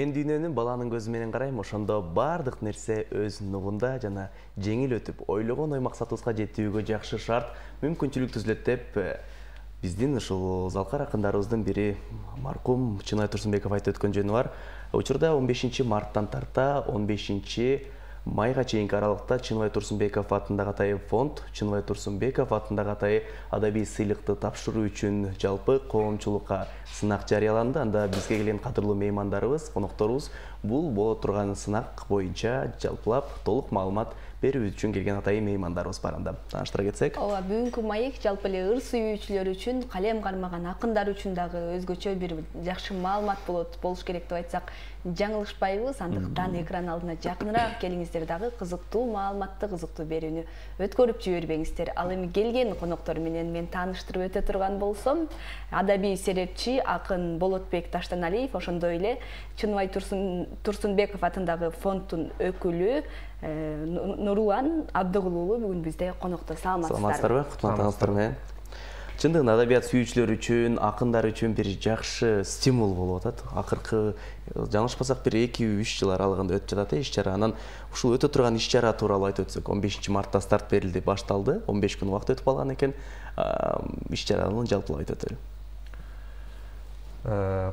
Мен дүйнөнү баланын көзү менен карайм, ошондо бардык нерсе өз нугунда жана жеңил өтүп, ойлогон ой максатыбызга жетүүгө жакшы шарт, мүмкүнчүлүк түзүлөт деп биздин ушул залкар акындарыбыздын бири маркум Чынай Турсунбеков айтып өткөн жөнү бар. Учурда 15 марттан тарта 15 майга чейинки аралыкта Чынай Турсунбеков атындагы атайын фонд, Чынай Турсунбеков атындагы атайын адабий сыйлыкты тапшыруу үчүн жалпы коомчулукка сынак жарыяланды. Анда бизге келген кадырлуу меймандарыбыз, конокторубуз бул боло турган сынак боюнча жалпылап толук маалымат берүү үчүн келген атайын меймандарыбыз бар. Анда тааныштыра кетсек. Ооба, бүгүнкү маек жалпы эле ыр сүйүүчүлөр үчүн, калем кармаган акындар үчүн дагы өзгөчө бир жакшы маалымат болуш керек деп айтсак жаңылышпайбыз. Андыктан экран алдына жакыныраак келиңиздер, дагы кызыктуу маалыматты, кызыктуу берүүнү өткөрүп жибербеңиздер. Ал эми келген коноктор менен мен тааныштырып өтө турган болсом, адабий серепчи акын Болотбек Таштаналиев, ошондой эле Чынай Турсунбеков атындагы фонддун өкүлү Нурлан Абдыгул уулу бүгүн бизде конокто. Саламатсыздарбы? Кутлуктарыңыздар менен. Чындыгында адабият сүйүүчүлөр үчүн, акындар үчүн бир жакшы стимул болуп атат. Акыркы жаңылышпасак бир 2-3 жыл аралыгында өтүп жатат иш-чара. Анан ушул өтө турган иш-чара тууралуу айтып өтсөк, 15 мартта старт берилди, башталды. 15 күн убакыт өтүп калган экен. Иш-чараны жалпылап айтып өтөлү.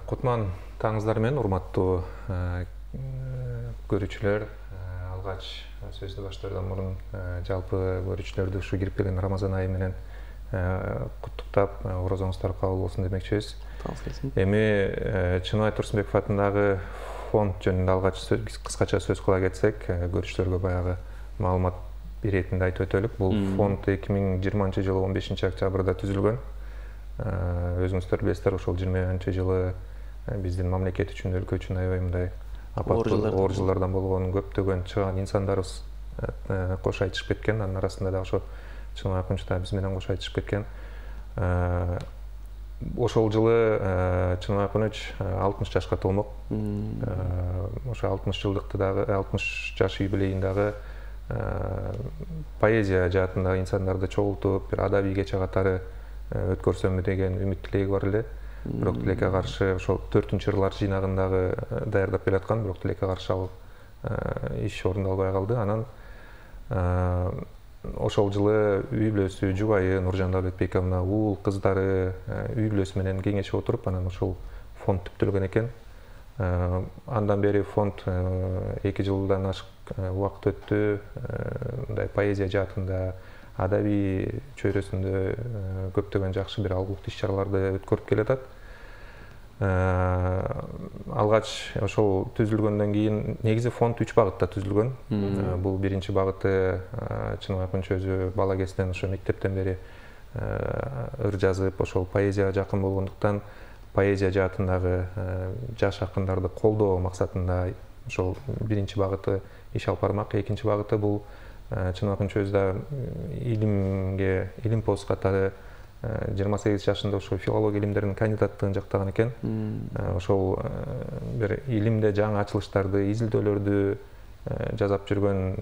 Кутман таңыңыздар менен, урматтуу көрүүчүлөр. Алгач сөздү баштаардан мурун жалпы көрүүчүлөрдү ушу кирип келген Рамазан айы менен куттуктап, орозоңуздар кабыл болсун демекчибиз. Эми Чынай Турсунбеков атындагы фонд жөнүндө алгач кыскача сөз кыла кетсек, көрүүчүлөргө баягы маалымат беретинде айтып өтөлүк. Бул фонд 2020-жылы 15 октябрда түзүлгөн. Өзүңүздөр билесиздер, ошол 20-жылы биздин мамлекет үчүн, өлкө үчүн аябай мындай оор жылдардан болгон көптөгөн чыгаан инсандарыбыз кош айтышып кеткен. Анын арасында да ошо Чынай акынчы да биз менен кош айтышып кеткен. Ошол жылы Чынай акыныч 60 жашка толмок. Ошо 60 жылдыкты дагы, 60 жаш юбилейин дагы поэзия жаатындагы инсандарды чогултуп, бир адабий кече катары өткөрсөмбү деген үмүт тилеги бар эле. Бирок тилекке каршы ошол 4-ырлар жыйнагындагы даярдап келаткан, бирок тилекке каршы ал иш орундалбай калды. Анан ошол жылы үй бүлөсү, жубайы Нуржан Давлетбековна, уул кыздары үй бүлөсү менен кеңешип отуруп, анан ошол фонд түптөлгөн экен. Андан бери фонд 2 жылдан ашык убакыт өттү. Мындай поэзия жаатында, адабий чөйрөсүндө көптөгөн жакшы бир алгылык иш-чараларды өткөрүп келатат. Алгач ошол түзүлгөндөн кийин негизи фонд 3 багытта түзүлгөн. Бул биринчи багыты Чынай акынчы өзү бала кезинен ошо мектептен бери ыр жазып, ошол поэзияга жакын болгондуктан поэзия жаатындагы жаш акындарды колдоо максатында ошол биринчи багыты иш алып бармак. Экинчи багыты бул Чынай акынчы өзү да илим пост катары 28 жашында ошо филология илимдеринин кандидаттыгын жактаган экен. Ошол бир илимде жаңы ачылыштарды, изилдөөлөрдү жасап жүргөн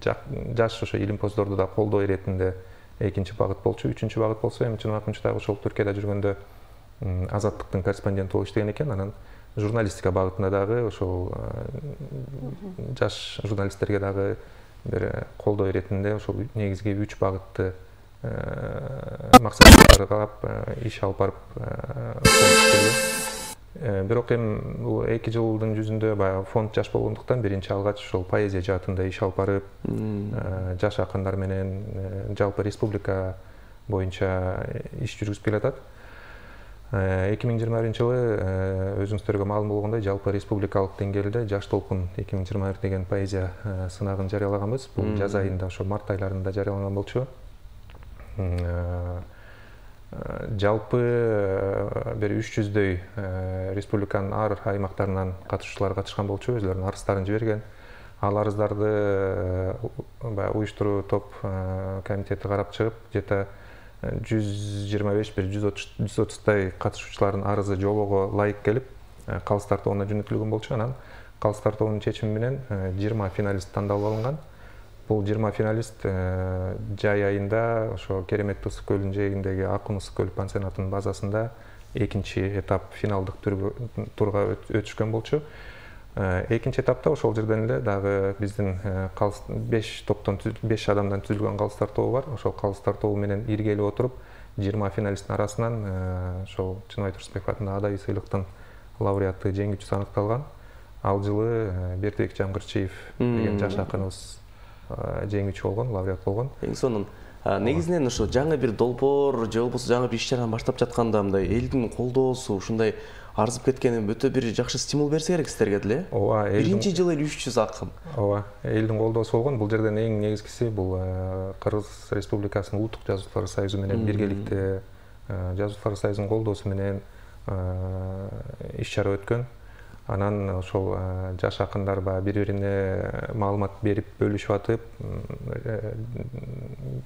жаш ошо илим постдорду да колдоо иретинде экинчи багыт болчу. Үчүнчү багыт болсо эми Чынай акынчы дагы ошол Түркияда жүргөндө Азаттыктын корреспонденти болуп иштеген экен. Анан журналистика багытында дагы ошол жаш журналисттерге дагы бир колдоо иретинде ошол негизги 3 багытты максаттарды карап иш алып барып бирок эми бул 2 жылдын жүзүндө баягы фонд жаш болгондуктан биринчи алгач ошол поэзия жаатында иш алып барып, жаш акындар менен жалпы республика боюнча иш жүргүзүп келатат. 2021-жылы өзүңүздөргө маалым болгондой жалпы республикалык деңгээлде Жаш толкун 2021 деген поэзия сынагын жарыялаганбыз. Бул жаз айында, ошо март айларында жарыяланган болчу. Жалпы бир 300дөй республиканын ар аймактарынан катышуучулар катышкан болчу, өзүлөрүнүн арыздарын жиберген. Ал арыздарды уюштуруу топ комитети карап чыгып, жета 125-130дай катышуучулардын арызы жобого ылайык келип, калыс тартоонуна жөнөтүлгөн болчу. Анан калыс тартоонун чечими менен 20 финалист тандалып алынган. Бул 20 финалист жай айында ошо Керемет Ысык көлүнүн жээгиндеги Акын Ысык көл пансионатынын базасында экинчи этап финалдык турга өтүшкөн болчу. Экинчи этапта ошол жерден эле дагы биздин 5 адамдан түзүлгөн калыстар тобу бар. Ошол калыстар тобу менен иргелеп отуруп 20 финалисттин арасынан ошол Чыныбай Турсунбеков атындагы Адабий сыйлыктын лауреаты жеңүүчүсү аныкталган. Ал жылы Бердибек Жамгырчиев деген жаш акыныбыз жеңүүчү болгон, лауреат болгон. Эң сонун негизинен ошо жаңы бир долбоор же болбосо жаңы бир иш-чараны баштап жатканда мындай элдин колдоосу ушундай арзып кеткени өтө бир жакшы стимул берсе керек силерге деле. Ооба, биринчи жылы эле 300 акын. Ооба, элдин колдоосу болгон. Бул жерден эң негизгиси бул Кыргыз Республикасынын Улуттук Жазуучулар союзу менен биргеликте Жазуучулар союзунун колдоосу менен иш-чара өткөн. Анан ошол жаш акындар бири-бирине маалымат берип бөлүшүп атып,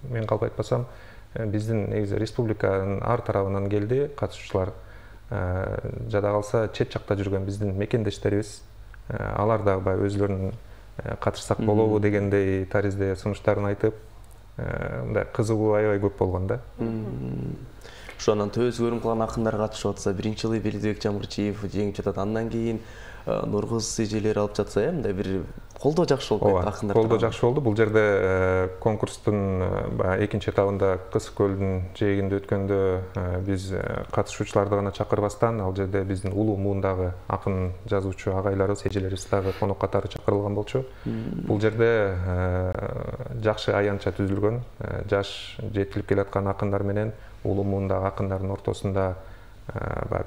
мен калп айтпасам, биздин негизи республиканын ар тарабынан келди катышуучулар. Жада калса чет жакта жүргөн биздин мекендештерибиз, алар дагы өзлөрүнүн катышсак болобу дегендей таризде сунуштарын айтып, мындай кызыгуу аябай көп болгон да. Ошо анан төбөсү көрүнүп калган акындар катышып атса, биринчи жылы Бердибек Жамгырчиев жеңип жатат, андан кийин Нургуз эжелер алып жатса, мындай бир колдоо жакшы болуп кетти акындар. Колдоо жакшы болду. Бул жерде конкурстун экинчи этабында Кысык көлдүн жээгинде өткөндө биз катышуучуларды гана чакырбастан, ал жерде биздин улуу муундагы акын жазуучу агайларыбыз, эжелерибиз дагы конок катары чакырылган болчу. Бул жерде жакшы аянтча түзүлгөн, жаш жетилип келаткан акындар менен улуу муундагы акындардын ортосунда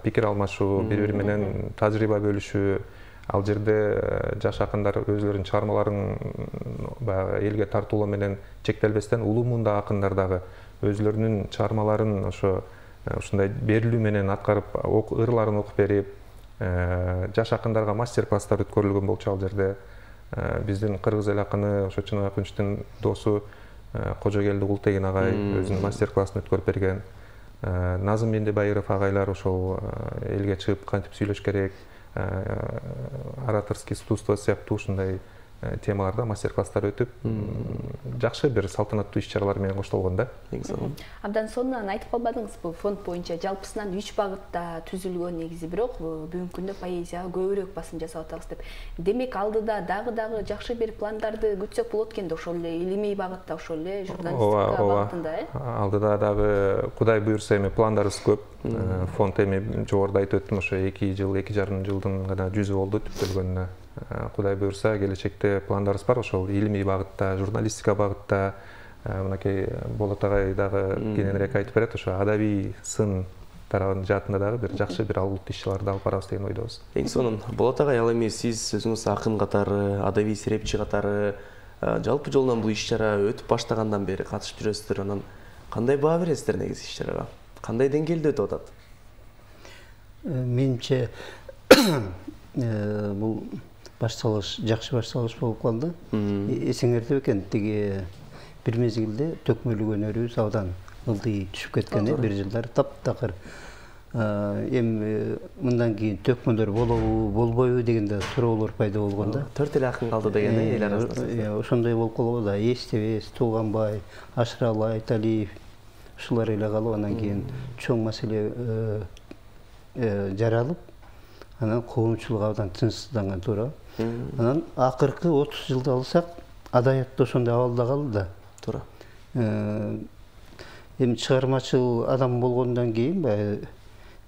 пикир алмашуу, бири-бири менен тажрыйба бөлүшүү. Ал жерде жаш акындар өзлөрүнүн чыгармаларын элге тартуулоо менен чектелбестен, улуу муундагы акындар дагы өзлөрүнүн чыгармаларын ушундай берилүү менен аткарып, ырларын окуп берип, жаш акындарга мастер-класстар өткөрүлгөн болчу. Ал жерде биздин кыргыз эл акыны ошо Чыныбай Кунчтун досу Кожогелди Култегин агай өзүнүн мастер-классын өткөрүп берген. Назым Мендебайыров агайлар ошол элге чыгып кантип сүйлөш керек, ораторский искусство сыяктуу ушундай темаларда мастер-класстар өтүп, жакшы бир салтанаттуу иш-чаралар менен коштолгон да. Абдан сонун айтып калбадыңызбы, фонд боюнча жалпысынан 3 багытта түзүлгөн негизи, бирок бүгүнкү күндө поэзияга көбүрөөк басым жасап атабыз деп. Демек алдыда дагы жакшы бир пландарды күтсөк болот экен да, ошол эле илимий багытта, ошол эле журналистика багытында, Алдыда дагы Кудай буйрса эми пландарыбыз көп. Фонд эми жогоруда айтып өттүм, ошо 2 жыл, 2,5 жылдын гана жүзү болду түптөлгөнүнө. Кудай буйрса келечекте пландарыбыз бар, ошол илимий багытта, журналистика багытта. Мынакей Болот агай дагы кененирээк айтып берет, ошо адабий сын тарабынын жаатында дагы бир жакшы бир албырт иш-чараларды алып барабыз деген ойдобуз. Эң сонун. Болот агай, ал эми сиз өзүңүз акын катары, адабий серепчи катары жалпы жолдон бул иш-чара өтүп баштагандан бери катышып жүрөсүздөр. Анан кандай баа бересиздер негизи иш-чарага? Кандай деңгээлде өтүп атат? Менимче бул башталыш жакшы башталыш болуп калды. Эсиңерде экен, тиги бир мезгилде төкмөлүк өнөрүбүз абдан ылдый түшүп кеткен, бир жылдар таптакыр. Эми мындан кийин төкмөлөр болобу, болбойбу дегенде суроолор пайда болгон да. 4 эле акын калды деген эл арасында. Ошондой болуп калбады да. Эстебес, Тууганбай, Ашыралы Айталиев ушулар эле калып, анан кийин чоң маселе жаралып, анан коомчулук абдан тынчсызданган туура. Анан акыркы 30 жылды алсак, адабият ошондой абалда калды да. Туура. Эми чыгармачыл адам болгондон кийин,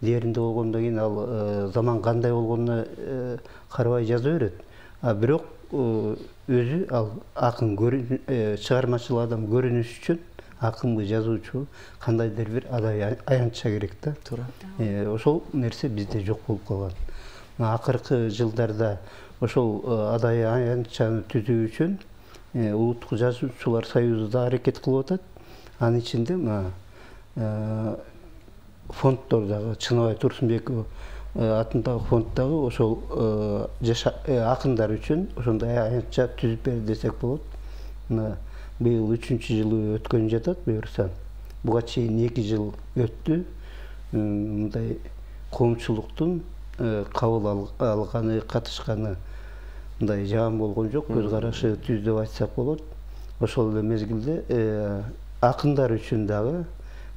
дээринде болгондон кийин ал заман кандай болгонуна карабай жаза берет. Бирок өзү ал акын чыгармачыл адам көрүнүш үчүн акынбы, жазуучу, кандайдыр бир адабий аянтча керек да. Туура. Ошол нерсе бизде жок болуп калган. Акыркы жылдарда ошол адабий аянтчаны түзүү үчүн Улуттук Жазуучулар союзу да аракет кылып атат. Анын ичинде фонддордагы Чыныбай Турсунбеков атындагы фонддагы ошол жаш акындар үчүн ошондой аянтча түзүп бер десек болот. Быйыл 3-жылы өткөн жатат, буюрса. Буга чейин 2 жыл өттү. Мындай коомчулуктун кабыл алганы, катышканы мындай жаман болгон жок, көз карашы түз деп айтсак болот. Ошол эле мезгилде акындар үчүн дагы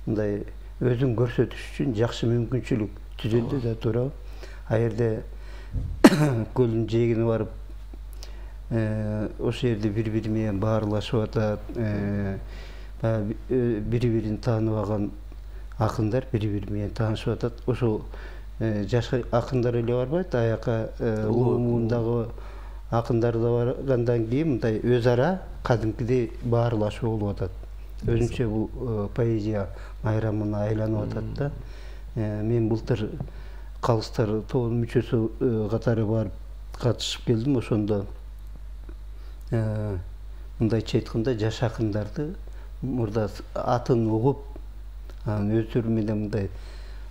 мындай өзүн көрсөтүш үчүн жакшы мүмкүнчүлүк түзүлдү да туура. А жерде көлдүн жээгине барып ошол жерде бири бири менен баарлашып атат, бири бирин таанып алган акындар бири бири менен таанышып атат. Ошол жаш акындар эле барбайт, аяка улуу муундагы акындар да баргандан кийин мындай өз ара кадимкидей баарлашуу болуп атат. Өзүнчө бул поэзия майрамына айланып атат да. Мен былтыр Калыстар тобунун мүчөсү катары барып катышып келдим. Ошондо мындайча айтканда жаш акындарды мурда атын угуп, өздөрү менен мындай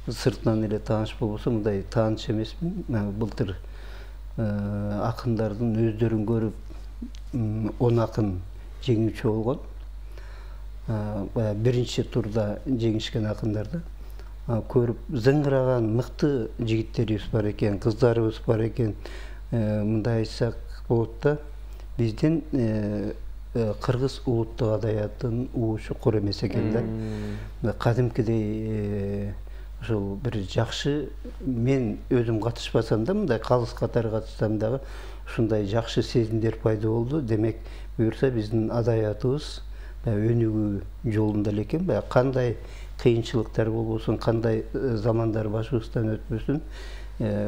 сыртынан эле тааныш болбосо, мындай тааныш эмесмин. Былтыр акындардын өздөрүн көрүп 10 акын жеңүүчү болгон. Биринчи турда жеңишкен акындарды көрүп зыңгыраган мыкты жигиттерибиз бар экен, кыздарыбыз бар экен. Мындай айтсак болот да, биздин кыргыз улуттук адаятынын уучу кур эмес экен да. Кадимкидей ошол бир жакшы, мен өзүм катышпасам да, мындай калыс катары катышсам дагы ушундай жакшы сезимдер пайда болду. Демек, буюрса биздин адаятыбыз өнүгүү жолунда эле экен. Кандай кыйынчылыктар болбосун, кандай замандар башыбыздан өтпөсүн,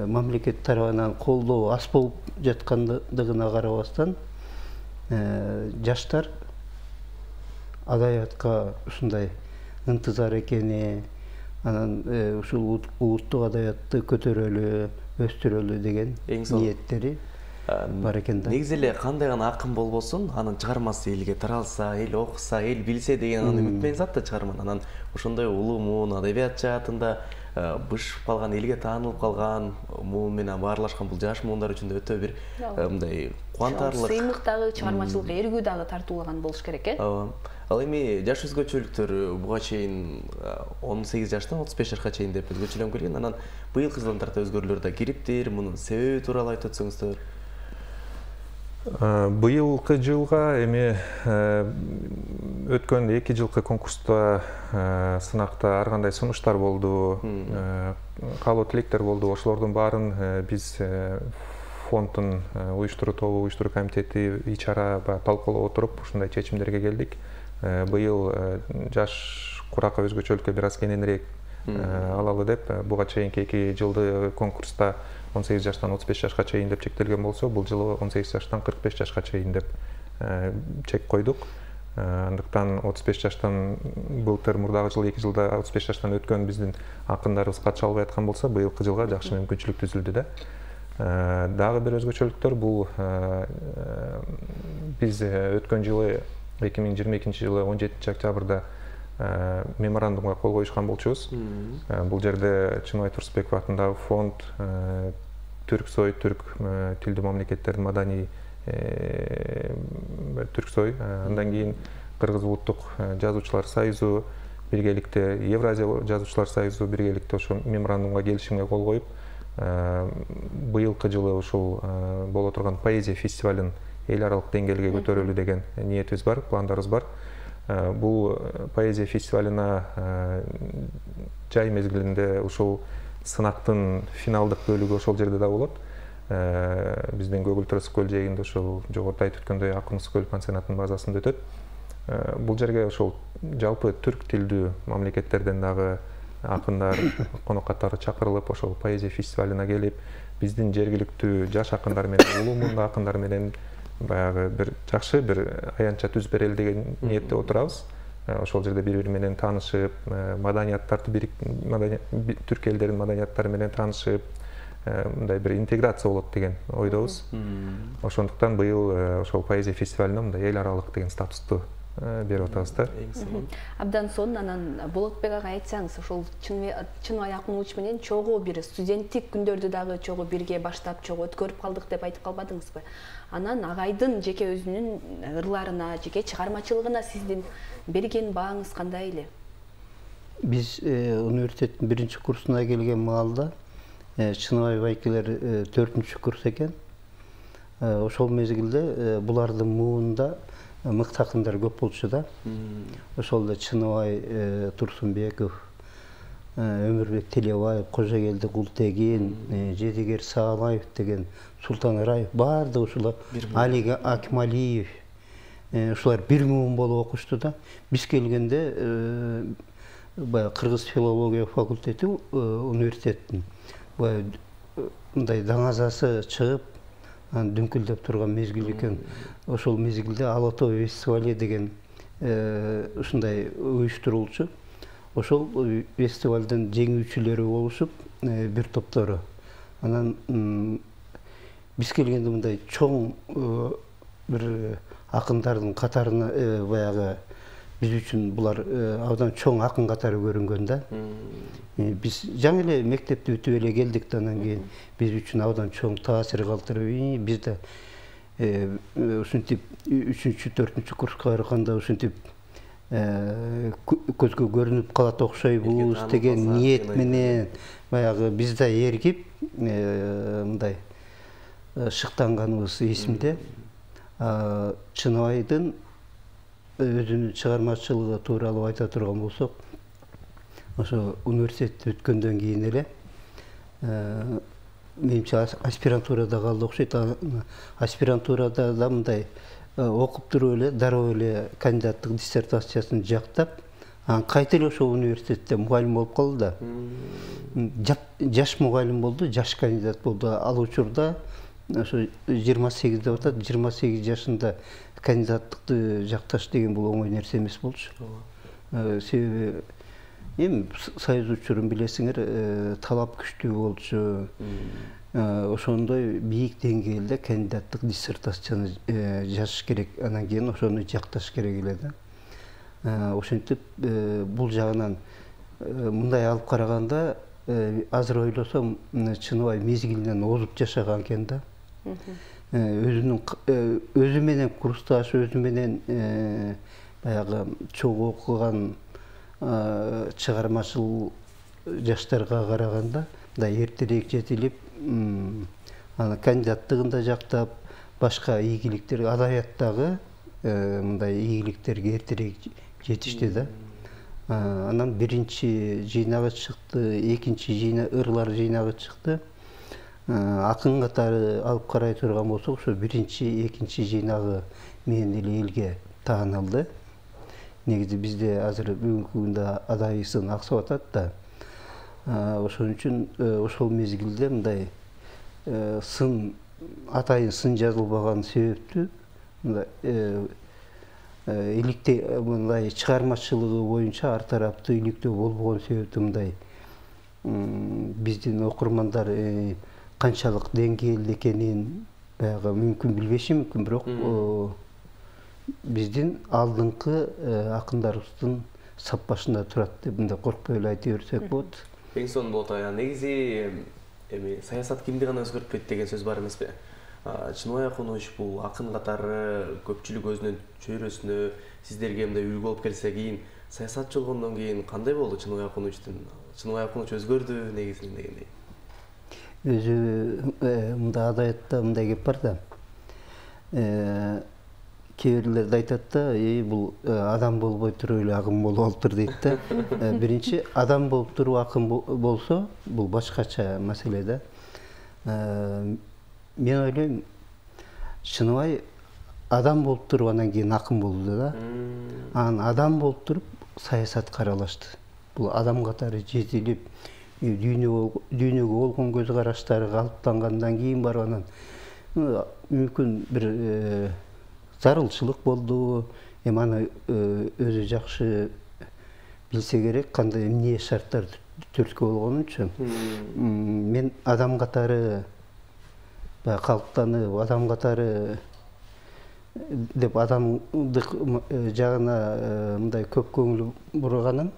мамлекет тарабынан колдоо аз болуп жаткандыгына карабастан, жаштар адаятка ушундай ынтызар экени, анан ушул улуттук адаятты көтөрөлү, өстүрөлү деген ниеттери бар экен да. Негизи эле кандай гана акын болбосун, анын чыгармасы элге таралса, эл окуса, эл билсе деген үмүт менен зат да чыгарман. Анан ошондой улуу муун адабият жаатында бышып калган, элге таанылып калган муун менен баарлашкан бул жаш муундар үчүн да өтө бир мындай кубантарлык, сыймык дагы, чыгармачылык эргүү дагы тартуулаган болуш керек э. Ал эми жаш өзгөчөлүктөр буга чейин 18 жаштан 35 жашка чейин деп өзгөчөлөнүп келген. Анан быйылкы жылдан тарта өзгөрүүлөр да кириптир. Мунун себеби тууралуу айтып өтсөңүздөр. Быйылкы жылга эми өткөн 2 жылкы конкурста сынакта ар кандай сунуштар болду, каалоо тилектер болду. Ошолордун баарын биз фонддун уюштуруу тобу, уюштуруу комитети ичара талкуулап отуруп ушундай чечимдерге келдик. Быйыл жаш куракка өзгөчөлүккө бир аз кененирээк алалы деп, буга чейинки 2 жылды конкурста 18 жаштан 35 жашка чейин деп чектелген болсо, бул жылы 18 жаштан 45 жашка чейин деп чек койдук. Андыктан 35 жаштан былтыр мурдагы жылы 2 жылда 35 жаштан өткөн биздин акындарыбыз катыша албай аткан болсо, быйылкы жылга жакшы мүмкүнчүлүк түзүлдү да. Дагы бир өзгөчөлүктөр бул биз өткөн жылы 2022 жылы 17 октябрда меморандумга кол коюшкан болчубуз. Бул жерде Чыныбай Турсунбеков атындагы фонд, Түрксой, түрк тилдүү мамлекеттердин маданий Түрксой, андан кийин Кыргыз улуттук жазуучулар союзу биргеликте, Евразия жазуучулар союзу биргеликте ошо меморандумга келишимге кол коюп, быйылкы жылы ушул боло турган поэзия фестивалын эл аралык деңгээлге көтөрөлүү деген ниетибиз бар, пландарыбыз бар. Бул поэзия фестивалына жай мезгилинде ушул сынактын финалдык бөлүгү ошол жерде да болот. Биздин Көгүл-Төрөс көл жээгинде ошол жогоруда айтып өткөндөй Акунус көл пансионатынын базасында өтөт. Бул жерге ошол жалпы түрк тилдүү мамлекеттерден дагы акындар, конок катары чакырылып, ошол поэзия фестивалына келип, биздин жергиликтүү жаш акындар менен, улуу муунда акындар менен баягы бир жакшы бир аянтча түзүп берели деген ниетте отурабыз. Ошол жерде бири-бири менен таанышып, маданияттарды түрк элдеринин маданияттары менен таанышып, мындай бир интеграция болот деген ойдобуз. Ошондуктан быйыл ошол поэзия фестивалына мындай эл аралык деген статусту берип атабыз да. Абдан сонун. Анан Болотбек ага айтсаңыз, ошол Чыныбай Акмулович менен чогуу бир студенттик күндөрдү дагы чогуу бирге баштап, чогуу өткөрүп калдык деп айтып калбадыңызбы? Анан агайдын жеке өзүнүн ырларына, жеке чыгармачылыгына сиздин берген бааңыз кандай эле? Биз университеттин 1-курсуна келген маалда Чыныбай байкелер 4-курс экен. Ошол мезгилде булардын муунда мыкты акындар көп болчу да. Ошол эле Чыныбай Турсунбеков, Өмүрбек Телебаев, Кожогелди Култегин, Жедигер Саалаев деген, Султан Раев, баардыгы ушулар, Али Акималиев, ушулар бир муун болуп окушту да. Биз келгенде баягы Кыргыз филология факультети университеттин мындай даңазасы чыгып, дүңкүлдөп турган мезгил экен. Ошол мезгилде Ала тоо фестивали деген ушундай уюштурулчу. Ошол фестивалдын жеңүүчүлөрү болушуп, бир топтору. Анан биз келгенде мындай чоң бир акындардын катарына баягы биз үчүн булар абдан чоң акын катары көрүнгөн да. Биз жаңы эле мектепти бүтүп эле келдик да, анан кийин биз үчүн абдан чоң таасир калтырып, биз да ушинтип 3-4 курска барганда ушинтип көзгө көрүнүп калат окшойбуз деген ниет менен баягы биз да эргип мындай шыктанганыбыз эсимде. Чыныбайдын өзүнүн чыгармачылыгы тууралуу айта турган болсок, ошо университетти бүткөндөн кийин эле менимче аспирантурада калды окшойт. Аспирантурада да мындай окуп туруп эле дароо эле кандидаттык диссертациясын жактап, анан кайта эле ошол университетте мугалим болуп калды да. Жаш мугалим болду, жаш кандидат болду. Ал учурда ошо 28 деп атат, 28 жашында кандидаттыкты жакташ деген бул оңой нерсе эмес болчу. Себеби эми союз учурун билесиңер, талап күчтүү болчу. Ошондой бийик деңгээлде кандидаттык диссертацияны жазыш керек, анан кийин ошону жакташ керек эле да. Ошентип бул жагынан мындай алып караганда азыр ойлосом Чыныбай мезгилинен озуп жашаган экен да. Өзү менен курсташ, өзү менен баягы чогуу окуган чыгармачыл жаштарга караганда да эртерээк жетилип, анан кандидаттыгын да жактап, башка ийгиликтер, адабияттагы мындай ийгиликтерге эртерээк жетишти да. Анан биринчи жыйнагы чыкты, экинчи ырлар жыйнагы чыкты. Акын катары алып карай турган болсок, ошо биринчи, экинчи жыйнагы менен эле элге таанылды. Негизи бизде азыр бүгүнкү күндө адай сын аксап атат да. Ошон үчүн ошол мезгилде мындай сын, атайын сын жазылбаган себептүү иликте мындай чыгармачылыгы боюнча ар тараптуу иликтөө болбогон себептүү мындай биздин окурмандар канчалык деңгээлде экенин баягы мүмкүн билбеши мүмкүн, бирок биздин алдыңкы акындарыбыздын саппашында турат деп мындай коркпой эле айта берсек болот. Эң сонун болот. Негизи эми саясат кимди гана өзгөртпөйт деген сөз бар эмеспи? Чыныбай Акунович бул акын катары көпчүлүк өзүнүн чөйрөсүнө, сиздерге мындай үлгү болуп келсе, кийин саясатчы болгондон кийин кандай болду Чыныбай Акуновичтин? Чыныбай Акунович өзгөрдү негизинен дегендей. Өзү мындай адабиятта мындай кеп бар да. Кээ бирлер айтат да, бул адам болбой туруп эле акын болуп алыптыр дейт да. Биринчи адам болуп туруп акын болсо, бул башкача маселе да. Мен ойлойм, Чыныбай адам болуп туруп анан кийин акын болду да. Анан адам болуп туруп саясатка аралашты. Бул адам катары жетилип, дүйнөгө болгон көз караштары калыптангандан кийин барып анан мүмкүн бир зарылчылык болду. Эми аны өзү жакшы билсе керек, кандай эмне шарттар түрткү болгонунчу. Мен адам катары калыптанып, адам катары деп адамдык жагына мындай көп көңүл бурганым.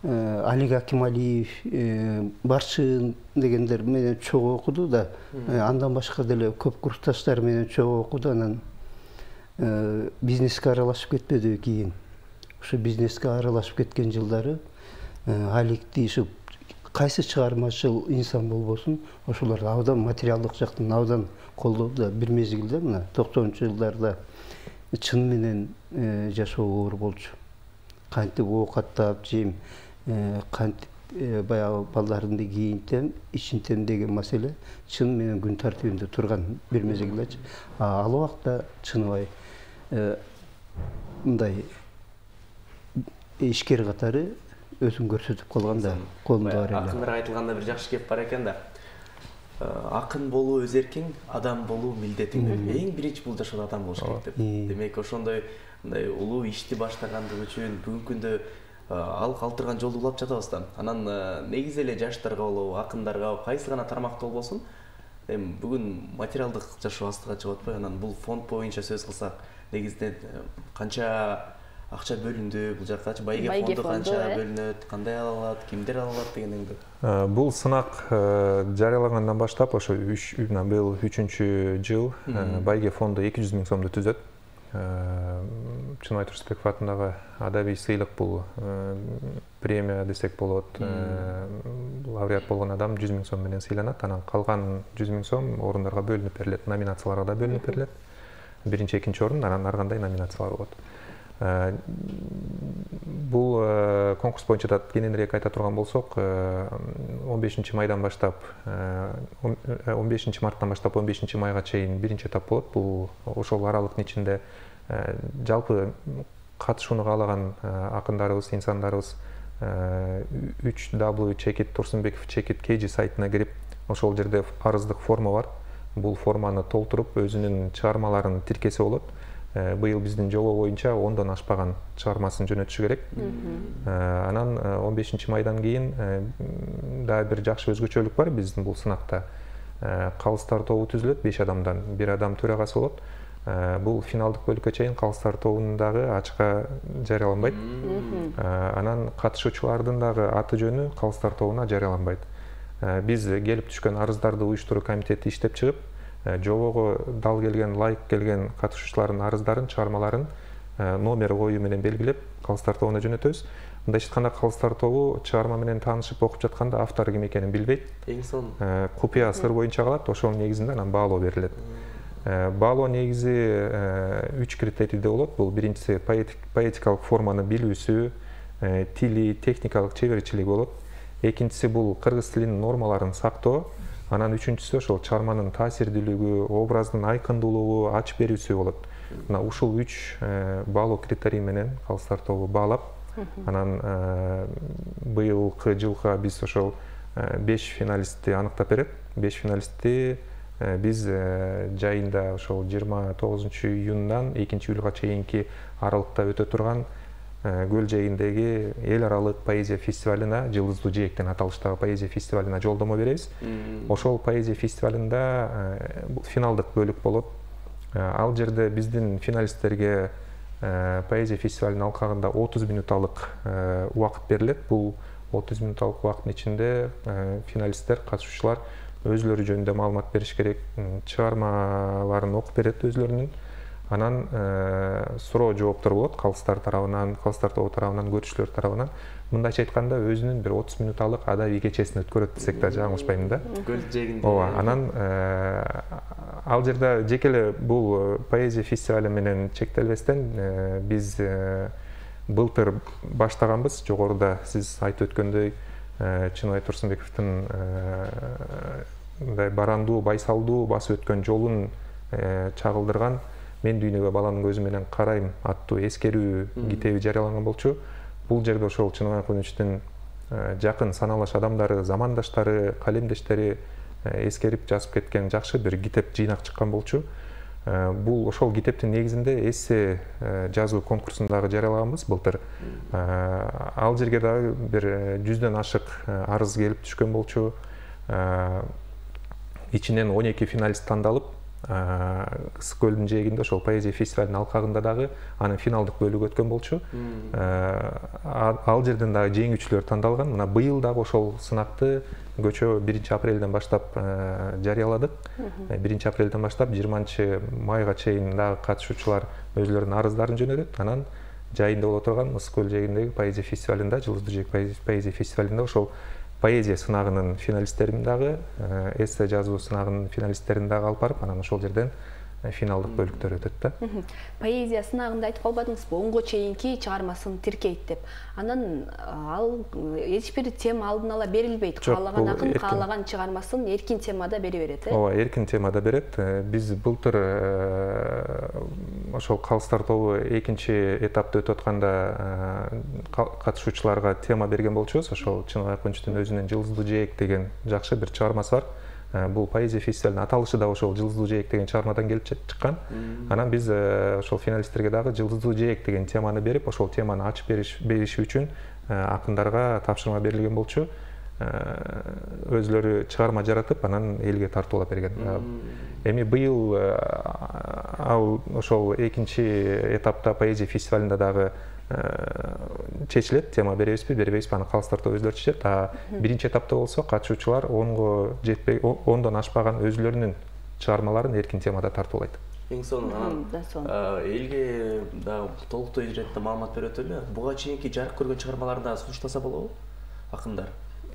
Алик Акималиев, Барчын дегендер менен чогуу окуду да. Андан башка деле көп курсташтар менен чогуу окуду. Анан бизнеске аралашып кетпеди кийин. Ошо бизнеске аралашып кеткен жылдары Аликти ушу кайсы чыгармачыл инсан болбосун, ошолор абдан материалдык жактан абдан колдоду да. Бир мезгилде мына 90-чы жылдарда чын менен жашоо оор болчу. Кантип оокаттап жейм, кантип баягы балдарды кийинтем, ичинтем деген маселе чын менен күн тартибинде турган бир мезгилдечи. Ал убакта чыныбай мындай ишкер катары өзүн көрсөтүп калган да колунда бар эле. Акындар айтылганда бир жакшы кеп бар экен да. Акын болуу өз эркиң, адам болуу милдетиң. Эң биринчи бул жашоодо адам болуш керек деп. Демек ошондой мындай улуу ишти баштагандыгы үчүн бүгүнкү күндө ал калтырган жолду улап жатабыз да. Анан негизи эле жаштарга болобу, акындарга кайсы гана тармакта болбосун, эми бүгүн материалдык жашоо астыга чыгып атпайбы? Анан бул фонд боюнча сөз кылсак, негизинен канча акча бөлүндү, бул жаккачы байге фонду канча бөлүнөт, кандай ала алат, кимдер ала алат дегендеги. Бул сынак жарыялагандан баштап ошо быйыл 3-чү жыл байге фонду 200 000 сомду түзөт. Чыныбай Турсунбеков атындагы адабий сыйлык бул премия десек болот. Лауреат болгон адам 100 000 сом менен сыйланат. Анан калган 100 000 сом орундарга бөлүнүп берилет, номинацияларга да бөлүнүп берилет. Биринчи, экинчи орун, анан ар кандай номинациялар болот. Бул конкурс боюнча да кененирээк айта турган болсок, 15 майдан баштап 15 марттан баштап 15 майга чейин биринчи этап болот. Бул ошол аралыктын ичинде жалпы катышууну каалаган акындарыбыз, инсандарыбыз 3w.tursunbekov.kg сайтына кирип, ошол жерде арыздык форма бар. Бул форманы толтуруп, өзүнүн чыгармаларын тиркесе болот. Быйыл биздин жобо боюнча 10дон ашпаган чыгармасын жөнөтүшү керек. Анан 15 майдан кийин дагы бир жакшы өзгөчөлүк бар биздин бул сынакта. Калыстар тобу түзүлөт, 5 адамдан, 1 адам төрагасы болот. Бул финалдык бөлүккө чейин калыстар тобунун дагы ачыкка жарыяланбайт. Анан катышуучулардын дагы аты жөнү калыстар тобуна жарыяланбайт. Биз келип түшкөн арыздарды уюштуруу комитети иштеп чыгып, жобого дал келген, лайык келген катышуучулардын арыздарын, чыгармаларын номер коюу менен белгилеп, калыстар тобуна жөнөтөбүз. Мындайча айтканда, калыстар тобу чыгарма менен таанышып окуп жатканда автору ким экенин билбейт. Эң сонун купуя сыр боюнча калат, ошонун негизинде анан баалоо берилет. Баалоо негизи 3 критерийде болот. Бул биринчиси поэтикалык форманы билүүсү, тили, техникалык чеберчилиги болот. Экинчиси бул кыргыз тилинин нормаларын сактоо. Анан үчүнчүсү ошол чыгарманын таасирдүүлүгү, образдын айкындуулугу, ачып берүүсү болот. Мына ушул 3 баалоо критерий менен калыстар тобу баалап, анан быйылкы жылга биз ошол 5 финалистти аныктап берет. 5 финалистти биз жайында ошол 29-июндан 2-июлга чейинки аралыкта өтө турган Көл жээгиндеги эл аралык поэзия фестивалына, Жылдыздуу жээктен аталыштагы поэзия фестивалына жолдомо беребиз. Ошол поэзия фестивалында финалдык бөлүк болот. Ал жерде биздин финалисттерге поэзия фестивалынын алкагында 30 минуталык убакыт берилет. Бул 30 минуталык убакыттын ичинде финалисттер, катышуучулар өзүлөрү жөнүндө маалымат бериш керек, чыгармаларын окуп берет өзүлөрүнүн. Анан суроо жооптор болот калыстар тарабынан, калыстар тобу тарабынан, көрүүчүлөр тарабынан. Мындайча айтканда, өзүнүн бир 30 минуталык адабий кечесин өткөрөт десек да жаңылышпайм да. Көл жээгинде. Ооба, анан ал жерде жеке эле бул поэзия фестивали менен чектелбестен биз былтыр баштаганбыз. Жогоруда сиз айтып өткөндөй, Чыныбай Турсунбековдун мындай барандуу, байсалдуу басып өткөн жолун чагылдырган «Мен дүйнөгө баланын көзү менен карайм» аттуу эскерүү китеби жарыяланган болчу. Бул жерде ошол Чыныбай Акуновичтин жакын саналаш адамдары, замандаштары, калемдештери эскерип жазып кеткен жакшы бир китеп жыйнак чыккан болчу. Бул ошол китептин негизинде эссе жазуу конкурсундагы жарыялаганбыз былтыр. Ал жерге дагы бир 100дөн ашык арыз келип түшкөн болчу. Ичинен 12 финалист тандалып, Ысык көлдүн жээгинде ошол поэзия фестивалынын алкагында дагы анын финалдык бөлүгү өткөн болчу. Ал жерден дагы жеңүүчүлөр тандалган. Мына быйыл дагы ошол сынакты көчө 1-апрелден баштап жарыяладык. 1-апрелден баштап 20-майга чейин дагы катышуучулар өзүлөрүнүн арыздарын жөнөтөт. Анан жайында боло турган Ысык көл жээгиндеги поэзия фестивалында, Жылдыздуу жээк поэзия фестивалында ошол поэзия сынагынын финалисттерин дагы, эссе жазуу сынагынын финалисттерин дагы алып барып, анан ошол жерден финалдык бөлүктөр өтөт да. Поэзия сынагында айтып калбадыңызбы, онго чейинки чыгармасын тиркейт деп. Анан ал эч бир тема алдын ала берилбейт. Каалаган акын каалаган чыгармасын эркин темада бере берет, э? Ооба, эркин темада берет. Биз былтыр ошол Калыстар тобу экинчи этапты өтүп атканда катышуучуларга тема берген болчубуз. Ошол Чыныбай Акунчтун өзүнүн Жылдыздуу жээк деген жакшы бир чыгармасы бар. Бул поэзия фестивалынын аталышы да ошол Жылдыздуу жээк деген чыгармадан келип чыккан. Анан биз ошол финалисттерге дагы Жылдыздуу жээк деген теманы берип, ошол теманы ачып бериши үчүн акындарга тапшырма берилген болчу. Өзлөрү чыгарма жаратып, анан элге тартуулап берген. Эми быйыл ал ошол экинчи этапта поэзия фестивалында дагы чечилет, тема беребизби, бербейбизби, аны Калыстар тобу өзлөрү чечет. Биринчи этапта болсо катышуучулар 10го жетпей, 10дон ашпаган өзлөрүнүн чыгармаларын эркин темада тартуулайт. Эң сонун анан элге дагы толуктуу иретте маалымат берип өтөлү. Буга чейинки жарык көргөн чыгармаларда сунуштаса болобу акындар?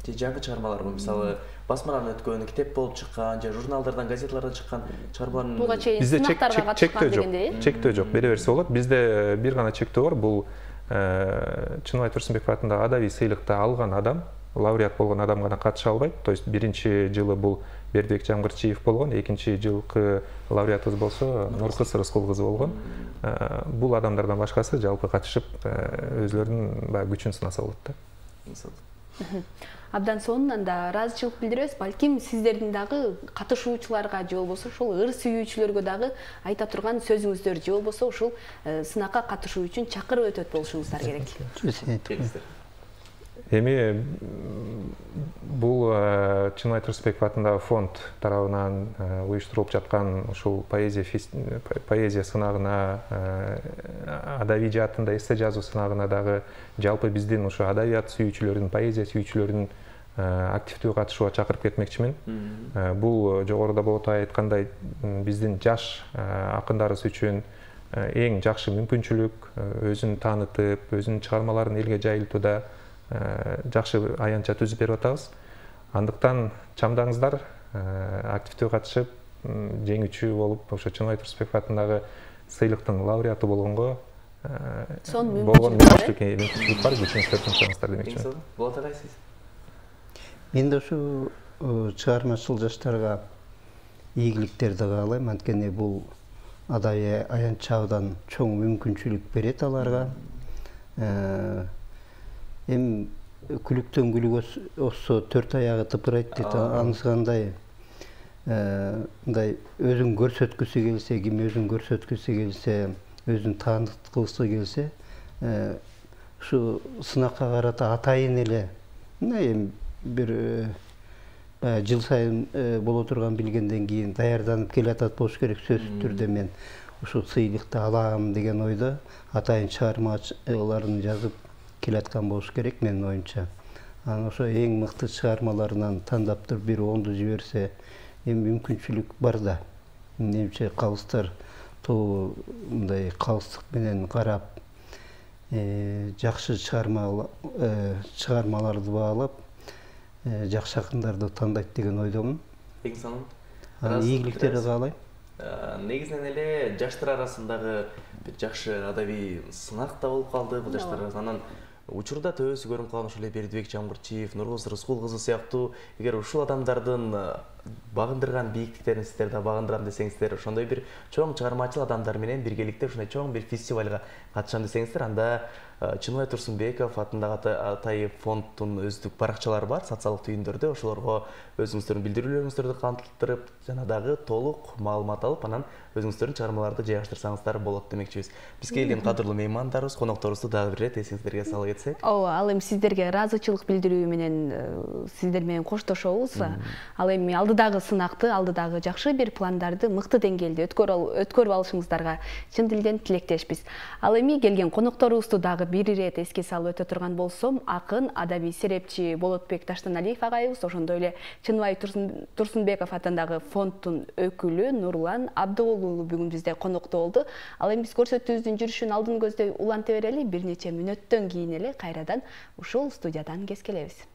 Же жаңы чыгармаларбы, мисалы басмадан өткөн, китеп болуп чыккан, же журналдардан, газеталардан чыккан чыгармалардын буга чейин сынактарга катышкан дегендей. Чектөө жок, бере берсе болот. Бизде бир гана чектөө бар. Бул Чыныбай Турсунбеков атындагы адабий сыйлыкты алган адам, лауреат болгон адам гана катыша албайт. То есть биринчи жылы бул Бердибек Жамгырчиев болгон, экинчи жылкы лауреатыбыз болсо Нуркыз Рыскул кызы болгон. Бул адамдардан башкасы жалпы катышып өзлөрүнүн баягы күчүн сынаса болот да. Абдан сонунан да ыраазычылык билдиребиз. Балким сиздердин дагы катышуучуларга же болбосо ошол ыр сүйүүчүлөргө дагы айта турган сөзүңүздөр же болбосо ушул сынакка катышуу үчүн чакырып өтөт болушуңуздар керек. Эми бул Чыныбай Турсунбеков атындагы фонд тарабынан уюштурулуп жаткан ушул поэзия сынагына, адабий жаатында эссе жазуу сынагына дагы жалпы биздин ушу адабият сүйүүчүлөрүн, поэзия сүйүүчүлөрүн активдүү катышууга чакырып кетмекчимин. Бул жогоруда болото айткандай биздин жаш акындарыбыз үчүн эң жакшы мүмкүнчүлүк, өзүн таанытып, өзүнүн чыгармаларын элге жайылтууда жакшы аянтча түзүп берип атабыз. Андыктан чамдаңыздар, активдүү катышып, жеңүүчү болуп, ошо Чыныбай Турсунбеков атындагы сыйлыктын лауреаты болгонго мүмкүнчүлүк бар, күчүңүздөрдү чыгыңыздар демекчимин. Болот эле сиз? Мен да ушу чыгармачыл жаштарга ийгиликтерди каалайм, анткени бул адабий аянтчабыдан чоң мүмкүнчүлүк берет аларга. Эми күлүктөн күлүк өссө төрт аягы тыпырайт дейт, анысыкандай мындай өзүн көрсөткүсү келсе, ким өзүн көрсөткүсү келсе, өзүн тааныткысы келсе, ушу сынакка карата атайын эле эми бир жыл сайын боло турган билгенден кийин даярданып келатат болуш керек. Сөзсүз түрдө мен ушул сыйлыкты алам деген ойдо атайын чыгармаларын жазып келаткан болуш керек менин оюмча. Анан ошо эң мыкты чыгармаларынан тандап туруп бир 10ду жиберсе, эми мүмкүнчүлүк бар да. Менимче Калыстар тобу мындай калыстык менен карап, жакшы чыгармаларды баалап, жакшы акындарды тандайт деген ойдомун. Эң сонун. Ийгиликтерди каалайм. Негизинен эле жаштар арасындагы бир жакшы адабий сынак да болуп калды бул жаштар арасында. Анан учурда төбөсү көрүнүп калган ошол Бердибек Жамгырчиев, Нуркыз Рыскул кызы сыяктуу эгер ушул адамдардын багындырган бийиктиктерин сиздер да багындырам десеңиздер, ошондой бир чоң чыгармачыл адамдар менен биргеликте ушундай чоң бир фестивалга катышам десеңиздер, анда Чыныбай Турсунбеков атындагы Атайы фонддун өздүк баракчалары бар, социалдык түйүндөрдө, ошолорго өзүңүздөрдүн билдирүүлөрүңүздөрдү калтырып, жана дагы толук маалымат алып, анан өзүңүздөрдүн чыгармаларды жайгаштырсаңыздар болот демекчибиз. Бизге келген кадырлуу меймандарыбыз, конокторубузду дагы бир ирет эсиңиздерге сала кетсек. Ооба, ал эми сиздерге ыраазычылык билдирүү менен сиздер менен коштошобуз. Ал эми алдыдагы сынакты, алдыдагы жакшы бир пландарды мыкты деңгээлде өткөрүп алышыңыздарга чын дилден тилектешпиз. Ал эми келген конокторубузду дагы бир ирет эске салып өтө турган болсом, акын, адабий серепчи Болотбек Таштаналиев агайыбыз, ошондой эле Чыныбай Турсунбеков атындагы фонддун өкүлү Нурлан Абдыолу бүгүн бизде конокто болду. Ал эми биз көрсөтүүбүздүн жүрүшүн алдын көздөй уланта берели, бир нече мүнөттөн кийин эле кайрадан ушул студиядан кескелебиз.